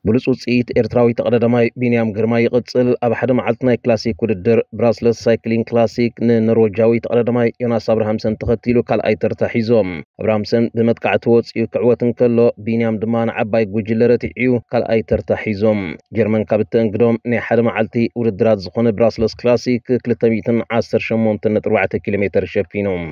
ብሉጽ ውጽኢት ኤርትራዊ ተቐዳዳማይ ቢንያም ግርማይ ይቕጽል። ኣብ ሓደ መዓልቲ ናይ ክላሲክ ውድድር ብራስለስ ሳይክሊንግ ክላሲክ ንኖርወጃዊ ተቐዳዳማይ ዮናስ ኣብርሃምሰን ተኸቲሉ ካልኣይ ተርታ ሒዞም። ኣብርሃምሰን ብመጥቃዕቲ ወጺኡ ክዕወት እንከሎ፣ ቢንያም ድማ ንዓባይ ጉጅለ ረቲዕ'ዩ ካልኣይ ተርታ ሒዞም። ጀርመን ካብ እተእንግዶም ናይ ሓደ መዓልቲ ውድድራት ዝኾነ ብራስለስ ክላሲክ ክልተ ሚእትን ዓሰርተ ሸሞንተን ነጥቢ ኣርባዕተ ኪሎ ሜተር ሸፊኖም።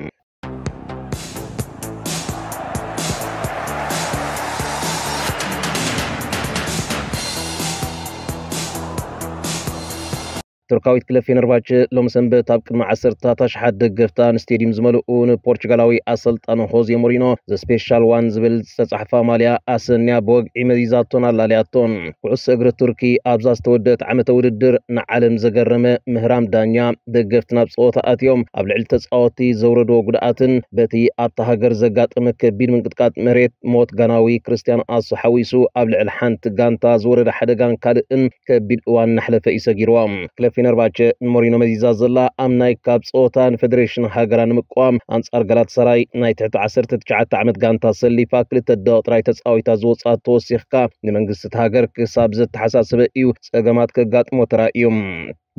ቱርካዊት ክለብ ፌነርባቸ ሎም ሰንበት ኣብ ቅድሚ ዓሰርታት ኣሽሓት ደገፍታ ንስቴድዩም ዝመልኡ ንፖርቹጋላዊ ኣሰልጣኒ ሆዜ ሞሪኖ ዘ ስፔሻል ዋን ዝብል ዝተጻሕፋ ማልያ ኣሰንያ ብወግዒ መዚዛቶን ኣላልያቶን። ኩዕሶ እግሪ ቱርኪ ኣብዛ ዝተወደት ዓመተ ውድድር ንዓለም ዘገረመ ምህራም ዳኛ፣ ደገፍቲ ናብ ጸወታ ኣትዮም ኣብ ልዕሊ ተጻወትቲ ዘውረድዎ ጉድኣትን በቲ ኣብታ ሃገር ዘጋጠመ ከቢድ ምንቅጥቃጥ መሬት ሞት ጋናዊ ክርስቲያን ኣሱ ሓዊሱ ኣብ ልዕሊ ሓንቲ ጋንታ ዝወረደ ሓደጋን ካልእን ከቢድ እዋን እናሕለፈ እዩ ሰጊርዋ። ክለብ ፌነርባቸ ንሞሪኖ መዚዛ ዘላ ኣብ ናይ ካብ ጸወታ ንፌደሬሽን ሃገራ ንምቋም ኣንጻር ጋላታሳራይ ናይ ትሕቲ ዓሰርተ ትሽዓተ ዓመት ጋንታ ሰሊፋ ክልተ ደቂቕ ጥራይ ተጻዊታ ዝወጽኣት ተወሲኽካ ንመንግስቲ እቲ ሃገር ክሳብ ዘተሓሳሰበ እዩ ጸገማት ከጋጥሞ ተራእዩ።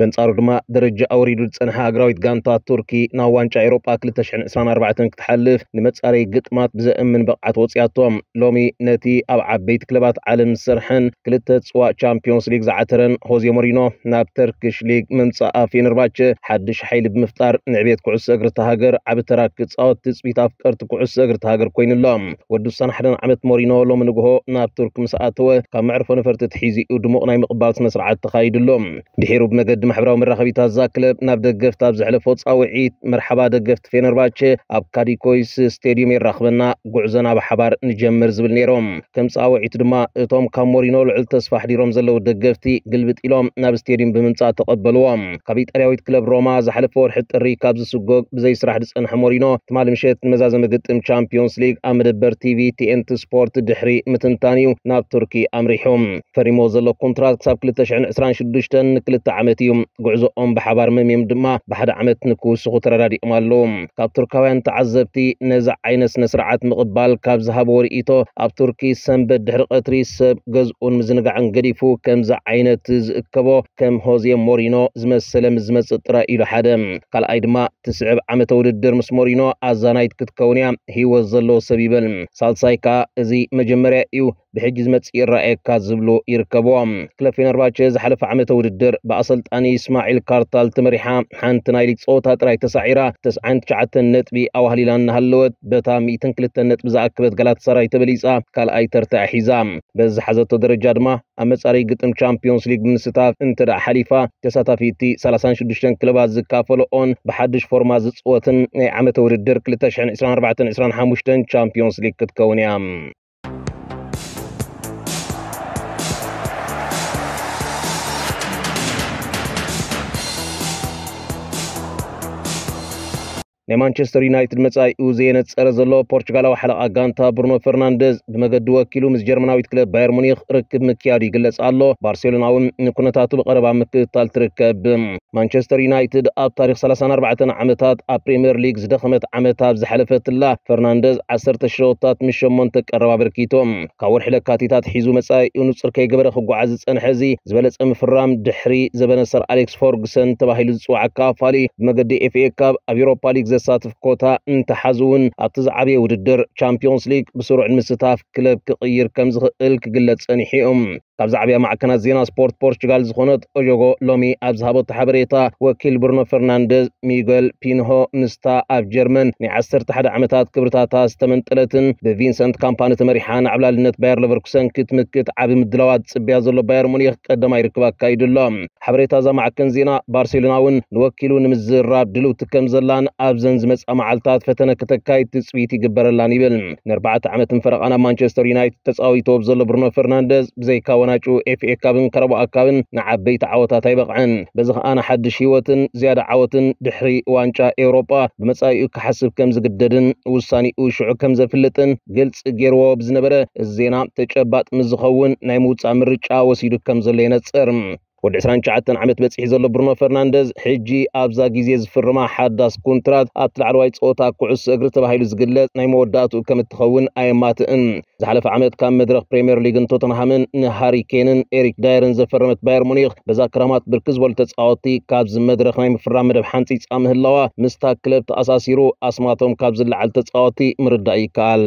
በንጻሩ ድማ ደረጃ ኣውሪዱ ዝጸንሐ ሃገራዊት ጋንታ ቱርኪ ናብ ዋንጫ ኤውሮጳ ክልተ ሽሕን ዕስራን ኣርባዕተን ክትሓልፍ ንመጻረይ ግጥማት ብዘእምን ብቕዓት ወጽያቶ። ሎሚ ነቲ ኣብ ዓበይቲ ክለባት ዓለም ዝሰርሐን ክልተ ጽዋእ ቻምፒዮንስ ሊግ ዝዓተረን ሆዜ ሞሪኖ ናብ ተርኪሽ ሊግ ምምጻእ ፌነርባቸ ሓድሽ ሓይሊ ብምፍጣር ንዕቤት ኩዕሶ እግሪ እታ ሃገር ዓቢ ተራ ክጻወት ትጽቢት ኣፍቀርቲ ኩዕሶ እግሪ እታ ሃገር ኮይኑሎ። ወዲ ስሳን ሓደን ዓመት ሞሪኖ ሎሚ ንግሆ ናብ ቱርክ ምስ ኣተወ ካብ መዕርፎ ነፈርቲ ትሒዙ እዩ ድሙቕ ናይ ምቕባል ስነ ስርዓት ተኻይዱሎ። ድሒሩ ብመገዲ ማሕበራዊ መራኸቢታት እዛ ክለብ ናብ ደገፍቲ ኣብ ዘሕለፎ ጻውዒት፣ መርሓባ ደገፍቲ ፌነርባቸ፣ ኣብ ካዲኮይስ ስቴድዩም የራኽበና፣ ጉዕዞና ብሓባር ንጀምር ዝብል ነይሮም። ከም ጻውዒቱ ድማ እቶም ካብ ሞሪኖ ልዑል ተስፋ ኣሕዲሮም ዘለዉ ደገፍቲ ግልብጥ ኢሎም ናብ ስቴድዩም ብምምጻእ ተቐበልዎም። ካብ ኢጣልያዊት ክለብ ሮማ ዝሓለፈ ወርሒ ጥሪ ካብ ዝስጎግ ብዘይ ስራሕ ዝጸንሐ ሞሪኖ ትማሊ ምሸት ንመዛዘሚ ግጥም ቻምፒዮንስ ሊግ ኣብ መደበር ቲቪ ቲኤንቲ ስፖርት ድሕሪ ምትንታን እዩ ናብ ቱርኪ ኣምሪሑ። ፈሪሞ ዘሎ ኮንትራት ክሳብ ክልተ ሽሕን ዕስራን ሽዱሽተን ንክልተ ዓመት እዩ። ጉዕዞኦም ብሓባር መምዮም ድማ ብሓደ ዓመት ንክውስኹ ተረዳዲኦም ኣለዉ። ካብ ቱርካውያን ተዓዘብቲ ነዚ ዓይነት ስነ ስርዓት ምቕባል ካብ ዝሃብዎ ርእይቶ፣ ኣብ ቱርኪ ሰንበት ድሕሪ ቀትሪ ሰብ ገዝኡን ምዝንጋዕን ገዲፉ ከምዚ ዓይነት ዝእከቦ ከም ሆዜ ሞሪኖ ዝመሰለ ምስ ዝመጽእ ጥራይ ኢሉ ሓደ። ካልኣይ ድማ ትስዕብ ዓመተ ውድድር ምስ ሞሪኖ ኣዛናይት ክትከውን እያ። ህይወት ዘለዎ ሰብ ይበል። ሳልሳይ ከኣ እዚ መጀመርያ እዩ። ብሕጂ ዝመጽእ ይረኣየካ ዝብሉ ይርከብዎም። ክለብ ፌነርባቸ ዝሓለፈ ዓመተ ውድድር ብኣሰልጣኒ እስማዒል ካርታል ተመሪሓ ሓንቲ ናይ ሊግ ጸወታ ጥራይ ተሳዒራ ተስዓን ትሽዓተን ነጥቢ ኣዋህሊላ እናሃለወት በታ ሚእትን ክልተን ነጥቢ ዝኣከበት ጋላታሳራይ ተበሊጻ ካልኣይ ተርታ ሒዛ። በዚ ዝሓዘቶ ደረጃ ድማ ኣብ መጻረይ ግጥም ቻምፒዮንስ ሊግ ብምስታፍ እንተ ደኣ ሓሊፋ ተሳታፊቲ ሰላሳን ሽዱሽተን ክለባት ዝካፈለኦን ብሓድሽ ፎርማ ዝጽወትን ናይ ዓመተ ውድድር ክልተ ሽሕን ዕስራን ኣርባዕተን ዕስራን ሓሙሽተን ቻምፒዮንስ ሊግ ክትከውን እያ። ናይ ማንቸስተር ዩናይትድ መጻኢኡ ዘየነጸረ ዘሎ ፖርቹጋላዊ ሓለቓ ጋንታ ብሩኖ ፈርናንደዝ ብመገዲ ወኪሉ ምስ ጀርመናዊት ክለብ ባየር ሙኒኽ ርክብ ምክያዱ ይግለጽ ኣሎ። ባርሴሎና እውን ንኩነታቱ ብቐረባ ምክትታል ትርከብ። ማንቸስተር ዩናይትድ ኣብ ታሪኽ ሰላሳን ኣርባዕተን ዓመታት ኣብ ፕሪምየር ሊግ ዝደኸመት ዓመት ኣብ ዝሓለፈትላ፣ ፈርናንደዝ ዓሰርተ ሽወታት ምስ ሸሞንተ ቀረብ ኣበርኪቱ። ካብ ወርሒ ለካቲት ኣትሒዙ መጻኢኡ ንጹር ከይገበረ ክጓዓዝ ዝጸንሐ እዚ ዝበለጸ ምፍራም፣ ድሕሪ ዘበነ ሰር ኣሌክስ ፈርጉሰን ተባሂሉ ዝጽዋዕ ኣካፋሊ ብመገዲ ኤፍ ኤ ካፕ ኣብ ዩሮፓ ሊግ ዘሳትፍ ኮታ እንተሓዙ እውን፣ ኣብቲ ዝዓበየ ውድድር ቻምፒዮንስ ሊግ ብስሩዕ ንምስታፍ ክለብ ክቕይር ከም ዝኽእል ክግለጽ ጸኒሑ እዩ። ካብ ዝዓበያ ማዕከናት ዜና ስፖርት ፖርቹጋል ዝኾነት ኦጆጎ ሎሚ ኣብ ዝሃበቶ ሓበሬታ፣ ወኪል ብሩኖ ፈርናንደዝ ሚገል ፒንሆ ምስታ ኣብ ጀርመን ናይ ዓሰርተ ሓደ ዓመታት ክብርታታ ዝተመንጠለትን ብቪንሰንት ካምፓኒ ተመሪሓ ንዓብላልነት ባየር ለቨርኩሰን ክትምክት ዓቢ ምድላዋት ዝጽበያ ዘሎ ባየር ሙኒክ ቀዳማይ ርክብ ኣካይዱ ኣሎ። ሓበሬታ እዛ ማዕከን ዜና፣ ባርሴሎና እውን ንወኪሉ ንምዝራብ ድልውቲ ከም ዘላን ኣብዘን ዝመጻ መዓልታት ፈተነ ከተካይድ ትጽቢት ይግበረላን ይብል። ንኣርባዕተ ዓመትን ፈረቓን ኣብ ማንቸስተር ዩናይትድ ተጻዊቱ ኣብ ዘሎ ብሩኖ ፈርናንደዝ፣ ብዘይካ ወናጩ ኤፍ ኤ ካፕን ካራባኦ ካፕን ንዓበይቲ ዓወታት ኣይበቕዐን። በዚ ከኣ ንሓድሽ ህይወትን ዝያዳ ዓወትን ድሕሪ ዋንጫ ኤውሮጳ ብመጻኢኡ ክሓስብ ከም ዝግደድን ውሳኔኡ ሽዑ ከም ዘፍልጥን ግልጺ ገይርዎ ብዝነበረ፣ እዚ ዜና ተጨባጥ ምስ ዝኸውን ናይ ምውጻእ ምርጫ ወሲዱ ከም ዘሎ የነጽር። ወዲ ዕስራን ትሽዓተን ዓመት በጺሑ ዘሎ ብሩኖ ፈርናንደዝ፣ ሕጂ ኣብዛ ግዜ ዝፍርማ ሓዳስ ኮንትራት ኣብቲ ላዕለዋይ ጸወታ ኩዕሶ እግሪ ተባሂሉ ዝግለጽ ናይ መወዳእትኡ ከም እትኸውን ኣየማትእን። ዝሓለፈ ዓመት ካብ መድረኽ ፕሪምየር ሊግን ቶተንሃምን ንሃሪ ኬንን ኤሪክ ዳየርን ዘፈረመት ባየር ሙኒኽ፣ በዛ ክራማት ብርክት ዝበሉ ተጻወትቲ ካብዚ መድረኽ ናይ ምፍራም መደብ ሓንጺጻ ምህላዋ፣ ምስታ ክለብ ተኣሳሲሩ ኣስማቶም ካብ ዝለዓል ተጻወትቲ ምርዳእ ይከኣል።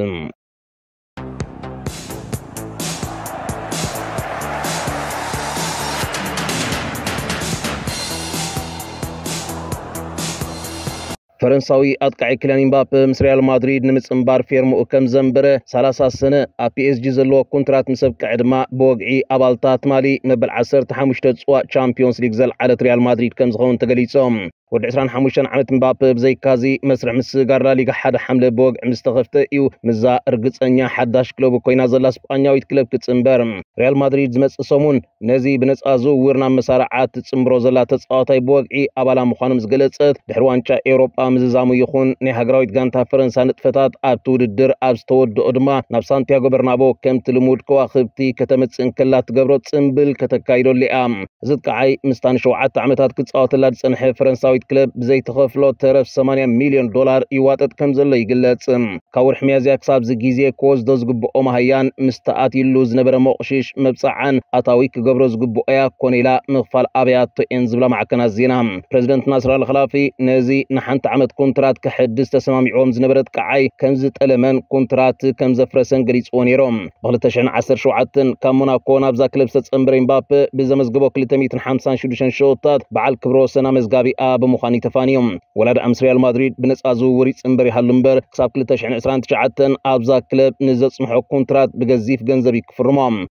ፈረንሳዊ ኣጥቃዒ ኪልያን ኢምባፔ ምስ ሪያል ማድሪድ ንምጽንባር ፌርምኡ ከም ዘንበረ፣ ሰላሳ ሰነ ኣብ ፒ ኤስ ጂ ዘለዎ ኮንትራት ምስ ኣብቅዐ ድማ፣ ብወግዒ ኣባልታ ትማሊ መበል ዓሰርተ ሓሙሽተ ጽዋእ ቻምፒዮንስ ሊግ ዘልዓለት ሪያል ማድሪድ ከም ዝኸውን ተገሊጾም። ወዲ ዕስራን ሓሙሽተን ዓመት ምባፕ ብዘይካዚ መስርሕ ምስግጋር ላሊጋ ሓደ ሓምለ ብወግዒ ምስ ተኸፍተ እዩ ምስዛ ርግጸኛ ሓዳሽ ክለቡ ኮይና ዘላ ስጳኛዊት ክለብ ክጽንበር። ሪያል ማድሪድ ዝመጽእ ሰሙን ነዚ ብነጻ ዝውውር ናብ መሳርዓ ትጽንብሮ ዘላ ተጻዋታይ ብወግዒ ኣባላ ምዃኑ ምስ ገለጸት፣ ድሕሪ ዋንጫ ኤውሮጳ ምዝዛሙ ይኹን ናይ ሃገራዊት ጋንታ ፈረንሳ ንጥፈታት ኣብቲ ውድድር ኣብ ዝተወድኦ ድማ ናብ ሳንቲያጎ በርናቦ ከምቲ ልሙድ ከዋኽብቲ ከተመጽእ እንከላ ትገብሮ ጽምብል ከተካይደሉ እያ። እዚ ኣጥቃዓይ ምስታ ንሸውዓተ ዓመታት ክጻወተላ ዝጸንሐ ፈረንሳዊት ክለብ ብዘይተኸፍሎ ተረፍ ሰማንያ ሚልዮን ዶላር ይዋጠጥ ከም ዘሎ ይግለጽ። ካብ ወርሒ ሚያዝያ ክሳብ እዚ ግዜ ክወስዶ ዝግብኦ መሃያን ምስ ተኣትዩሉ ዝነበረ መቑሽሽ መብጽዓን ኣታዊ ክገብሮ ዝግብኦያ ኮነ ኢላ ምኽፋል ኣብያቶ እየን ዝብላ ማዕከናት ዜና። ፕረዚደንት ናስር ኣል ኸላፊ ነዚ ንሓንቲ ዓመት ኮንትራት ክሕድስ ተሰማሚዕዎም ዝነበረ ኣጥቃዓይ ከም ዝጠለመን ኮንትራት ከም ዘፍረሰን ገሊጽዎ ነይሮም። ብ ክልተ ሽሕን ዓሰርተ ሸውዓተን ካብ ሞናኮ ናብዛ ክለብ ዝተጸንበረ ኤምባፔ ብዘመዝገቦ ክልተ ሚእትን ሓምሳን ሽዱሽተን ሸቶታት በዓል ክብረ ወሰን ኣመዝጋቢኣ ብምዃን እዩ ተፋንዩ። ወላ ደኣ ምስ ሪያል ማድሪድ ብነጻ ዝውውር ይጽንበር ይሃሉ እምበር፣ ክሳብ ክልተ ሽሕን ዕስራን ትሽዓተን ኣብዛ ክለብ ንዘጽንሖ ኮንትራት ብገዚፍ ገንዘብ እዩ ክፍርሞ።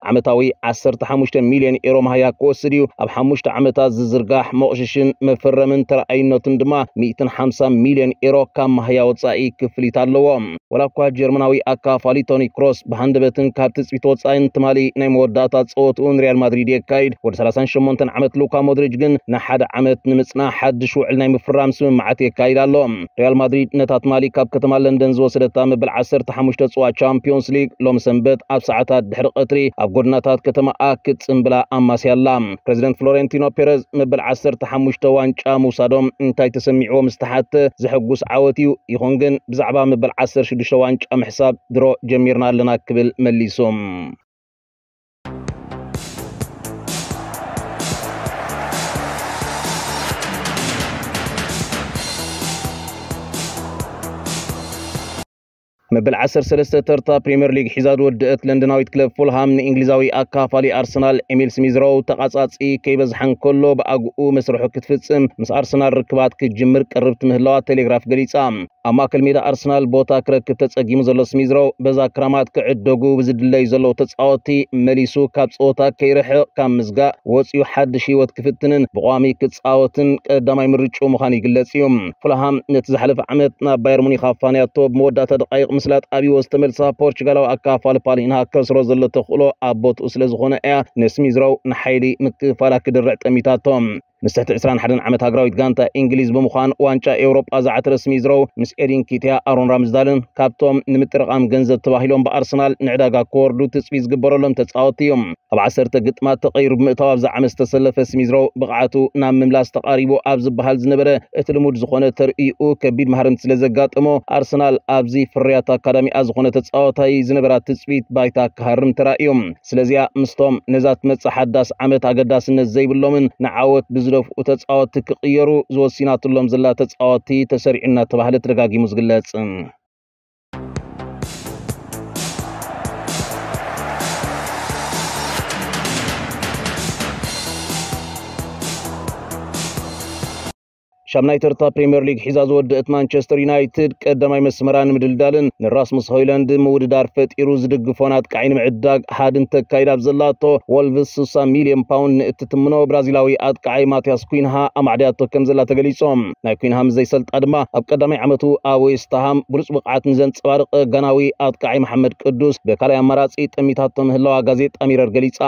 ዓመታዊ ዓሰርተ ሓሙሽተ ሚልዮን ኤሮ መሃያ ክወስድ እዩ። ኣብ ሓሙሽተ ዓመታት ዝዝርጋሕ መቑሽሽን መፈረምን ተረኣይነቱን ድማ ሚእትን ሓምሳን ሚልዮን ኤሮ ካብ መሃያ ወጻኢ ክፍሊት ኣለዎ። ወላ እኳ ጀርመናዊ ኣካፋሊ ቶኒ ክሮስ ብሃንደበትን ካብ ትጽቢት ወጻኢን ትማሊ ናይ መወዳእታ ጸወትኡ ንሪያል ማድሪድ የካይድ፣ ወዲ ሰላሳን ሸሞንተን ዓመት ሉካ ሞድሪጅ ግን ንሓደ ዓመት ንምጽናሕ ሓድሽ ውዕል ናይ ምፍራም ስምምዓት የካይድ ኣሎ። ሪያል ማድሪድ ነታ ትማሊ ካብ ከተማ ለንደን ዝወሰደታ መበል ዓሰርተ ሓሙሽተ ጽዋ ቻምፒዮንስ ሊግ ሎም ሰንበት ኣብ ሰዓታት ድሕሪ ቀትሪ ኣብ ጎድናታት ከተማኣ ክትጽንብላ ኣማስያ ኣላ። ፕረዚደንት ፍሎሬንቲኖ ፔረዝ መበል ዓሰርተ ሓሙሽተ ዋንጫ ምውሳዶም እንታይ ተሰሚዕዎ ምስ ተሓተ፣ ዘሐጉስ ዓወት እዩ፣ ይኹን ግን ብዛዕባ መበል ዓሰርተ ሽዱሽተ ዋንጫ ምሕሳብ ድሮ ጀሚርና ኣለና ክብል መሊሱ። መበል ዓሰርተ ሰለስተ ተርታ ፕሪምየር ሊግ ሒዛ ዝወደአት ለንደናዊት ክለብ ፉልሃም ንእንግሊዛዊ ኣካፋሊ ኣርሰናል ኤሚል ስሚዝሮው ተቓጻጺ ከይበዝሓ እንከሎ ብኣግኡ መስርሑ ክትፍጽም ምስ ኣርሰናል ርክባት ክትጅምር ቀርብቲ ምህላዋ ቴሌግራፍ ገሊጻ። ኣብ ማእከል ሜዳ ኣርሰናል ቦታ ክረክብ ተጸጊሙ ዘሎ ስሚዝሮው በዛ ክራማት ክዕደጉ ብዝድለዩ ዘለዉ ተጻወትቲ መሊሱ ካብ ጸወታ ከይርሕቕ ካብ ምዝጋእ ወጺኡ ሓድሽ ህይወት ክፍትንን ብቋሚ ክጻወትን ቀዳማይ ምርጭኡ ምዃኑ ይግለጽ እዩ። ፉልሃም ነቲ ዝሓለፈ ዓመት ናብ ባየር ሙኒክ ኣፋንያቶ ብመወዳእታ ደቃይቕ ምስላ ጣቢዎ ዝተመልሳ ፖርቹጋላዊ ኣካፋሊ ፓሊንሃ ከስሮ ዘሎ ተኽእሎ ኣብ ቦትኡ ስለ ዝኾነ እያ ንስሚዝሮው ንሓይሊ ምክፍፋላ ክድርዕ ጠሚታቶ። ምስ ትሕቲ ዕስራን ሓደን ዓመት ሃገራዊት ጋንታ እንግሊዝ ብምዃን ዋንጫ ኤውሮጳ ዝዓተረ ስሚዝሮው ምስ ኤዲን ኪትያ፣ ኣሮን ራምስዳልን ካብቶም ንምጥርቓም ገንዘብ ተባሂሎም ብኣርሰናል ንዕዳጋ ክወርዱ ትጽቢት ዝግበረሎም ተጻወትቲ እዮም። ኣብ ዓሰርተ ግጥማት ተቐይሩ ብምእታው ኣብዚ ዓመት ዝተሰለፈ ስሚዝሮው ብቕዓቱ ናብ ምምላስ ተቓሪቡ ኣብ ዝበሃል ዝነበረ እቲ ልሙድ ዝኾነ ተርእይኡ ከቢድ ማህረምቲ ስለ ዘጋጠሞ ኣርሰናል ኣብዚ ፍርያት ኣካዳሚኣ ዝኾነ ተጻዋታይ ዝነበራ ትጽቢት ባይታ ክሃርም ተራእዩ። ስለዚኣ ምስቶም ነዛ ትመጽእ ሓዳስ ዓመት ኣገዳስነት ዘይብሎምን ንዓወት ብዝደፍኡ ተጻወትቲ ክቕየሩ ዝወሲናትሎም ዘላ ተጻወትቲ ተሰሪዑ እናተባህለ ተደጋጊሙ ዝግለጽ። ሻምናይ ተርታ ፕሪምየር ሊግ ሒዛ ዝወደአት ማንቸስተር ዩናይትድ ቀዳማይ መስመራ ንምድልዳልን ንራስሙስ ሆይላንድ ምውድዳር ፈጢሩ ዝድግፎን ኣጥቃዒ ንምዕዳግ ሃድን ተካይድ ኣብ ዘላቶ፣ ወልቭስ ስሳ ሚልዮን ፓውንድ ንእትትምኖ ብራዚላዊ ኣጥቃዒ ማቲያስ ኩንሃ ኣማዕድያቶ ከም ዘላ ተገሊጾም። ናይ ኩንሃ ምስ ዘይሰልጣ ድማ ኣብ ቀዳማይ ዓመቱ ኣብ ዌስትሃም ብሉጽ ብቕዓት ንዘንጸባርቕ ጋናዊ ኣጥቃዒ መሓመድ ቅዱስ ብካልኣይ ኣማራጺ ጠሚታቶ ምህላዋ ጋዜጣ ሚረር ገሊጻ።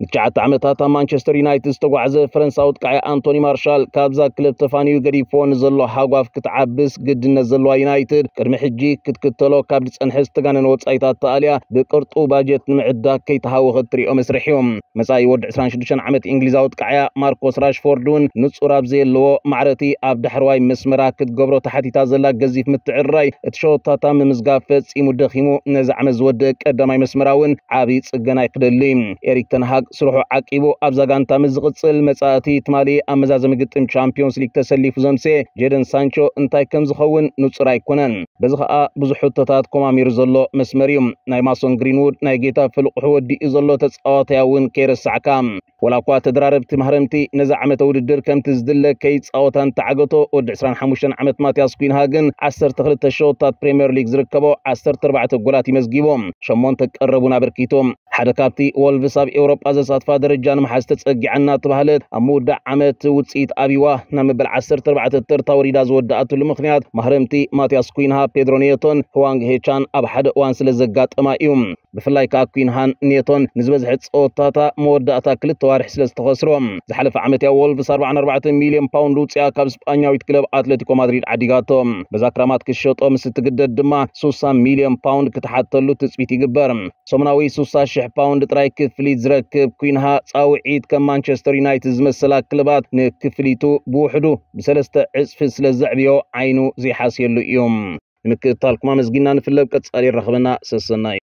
ንትሽዓተ ዓመታት ኣብ ማንቸስተር ዩናይትድ ዝተጓዕዘ ፈረንሳዊ ኣጥቃዒ ኣንቶኒ ማርሻል ካብዛ ክለብ ተፋንዩ ገዲፎ ንዘሎ ሃጓፍ ክትዓብስ ግድነት ዘለዋ ዩናይትድ፣ ቅድሚ ሕጂ ክትክተሎ ካብ ዝጸንሐ ዝተጋነነ ወጻኢታት ተኣልያ ብቅርጡ ባጀት ንምዕዳግ ከይተሃወኸት ትሪኦ መስርሕ እዩ። መጻኢ ወዲ ዕስራን ሽዱሽተን ዓመት እንግሊዛዊ ጥቃዕያ ማርኮስ ራሽፎርድ እውን ንጹር ኣብ ዘየለዎ ማዕረቲ ኣብ ዳሕረዋይ መስመራ ክትገብሮ ተሓቲታ ዘላ ገዚፍ ምትዕርራይ እቲ ሸወታታ ምምዝጋብ ፈጺሙ ደኺሙ ነዚ ዓመት ዝወደእ ቀዳማይ መስመራ እውን ዓብዪ ጽገና ይክደሊ። ኤሪክ ተንሃግ ስርሑ ዓቂቡ ኣብዛ ጋንታ ምስ ዝቕጽል መጻእቲ ትማሊ ኣብ መዛዘሚ ግጥም ቻምፒዮንስ ሊግ ተሰሊፉ ዘምሰ ጄደን ሳንቾ እንታይ ከም ዝኸውን ንጹር ኣይኮነን። በዚ ኸኣ ብዙሕ ሕቶታት ኮማሚሩ ዘሎ መስመር እዩ። ናይ ማሶን ግሪንውድ ናይ ጌታ ፍልቑሑ ወዲኡ ዘሎ ተጻዋታይ እውን ከይረሳዕካ። ወላ እኳ ተደራረብቲ ማህረምቲ ነዚ ዓመተ ውድድር ከምቲ ዝድለ ከይጻወታ እንተዓገቶ፣ ወዲ ዕስራን ሓሙሽተን ዓመት ማቲያስ ኩንሃ ግን ዓሰርተ ክልተ ሸወታት ፕሪምየር ሊግ ዝርከቦ ዓሰርተ ኣርባዕተ ጎላት እዩ መዝጊቡ። ሸሞንተ ቀረቡን ኣበርኪቱ። ሓደ ካብቲ ወልቭስ ኣብ ኤውሮጳ ዘሳትፋ ደረጃ ንምሓዝ ተጸጊዓ እናተባህለት ኣብ ምውዳእ ዓመት ውጽኢት ኣብይዋ ናብ መበል ዓሰርተ ኣርባዕተ ተርታ ወሪዳ ዝወደኣትሉ ምኽንያት ማህረምቲ ማቲያስ ኩንሃ፣ ፔድሮ ኔቶን ህዋንግ ሄቻን ኣብ ሓደ እዋን ስለ ዘጋጠማ እዩ። ብፍላይ ከኣ ኩንሃን ኔቶን ንዝበዝሐ ጸወታታ መወዳእታ ክልተ ዋርሒ ስለ ዝተኸስሮ። ዝሓለፈ ዓመት እያ ወልቭስ ኣርባዓን ኣርባዕተን ሚልዮን ፓውንድ ውጽኣ ካብ ስጳኛዊት ክለብ ኣትሌቲኮ ማድሪድ ዓዲጋቶ። በዛ ክራማት ክትሸጦ ምስ እትግደድ ድማ ሱሳ ሚልዮን ፓውንድ ክትሓተሉ ትጽቢት ይግበር። ሰሙናዊ ሱሳ ሽሕ ፓውንድ ጥራይ ክፍሊት ዝረክብ ኩንሃ፣ ጻውዒት ከም ማንቸስተር ዩናይትድ ዝመሰላ ክለባት ንክፍሊቱ ብውሕዱ ብሰለስተ ዕጽፊ ስለ ዘዕብዮ ዓይኑ ዘይሓስየሉ እዩ። ንምክትታልኩም ኣመስጊና ንፍለብ ቀጻሊ ይራኸበና። ሰሰናዩ።